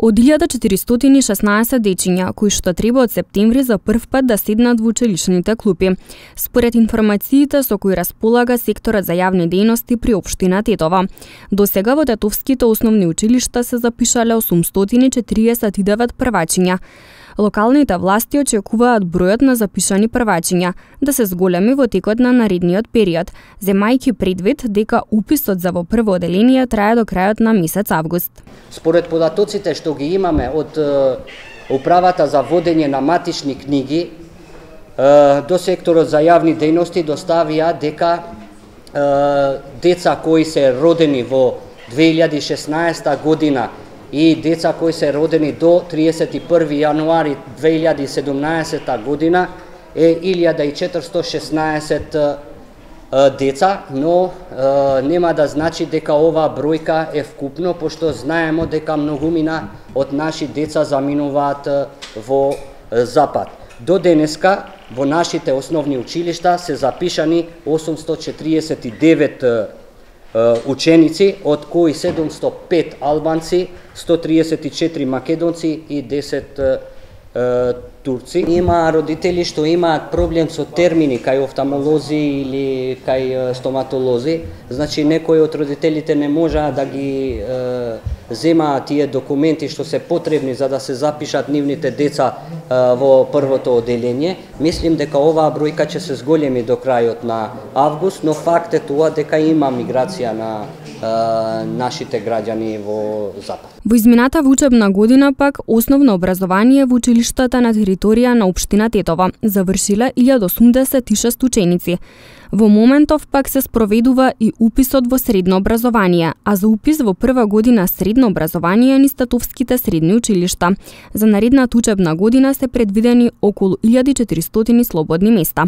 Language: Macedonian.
Од 1416 дечиња, кои што треба од септември за прв пат да седнат во училишните клупи. Според информациите со кои располага секторот за јавни дејности при општина Тетово. До сега во тетовските основни училишта се запишале 849 првачиња. Локалните власти очекуваат бројот на запишани првачиња да се зголеми во текот на наредниот период, земајќи предвид дека уписот за во прво оделение трае до крајот на месец август. Според податоците што ги имаме од управата за водење на матични книги, до секторот за јавни дејности доставија дека деца кои се родени во 2016 година и деца кои се родени до 31 јануари 2017 година е 1416 деца, но нема да значи дека оваа бројка е вкупно, пошто знаеме дека многумина од наши деца заминуваат во Запад. До денеска во нашите основни училишта се запишани 849 ученици, од кои 705 албанци, 134 македонци и 10 турци. Има родители што имаат проблем со термини кај офталмолози или кај стоматолози. Значи некои од родителите не можеа да ги земаат тие документи што се потребни за да се запишат нивните деца во првото оделение. Мислим дека оваа бројка ќе се зголеми до крајот на август, но факт е тоа дека има миграција на нашите граѓани во Запад. Во измината учебна година пак основно образование во училиштата на територија на општина Тетово завршиле 1086 ученици. Во моментов пак се спроведува и уписот во средно образование, а за упис во прва година средно образование низ тетовските средни училишта. За наредната учебна година се предвидени околу 1400 слободни места.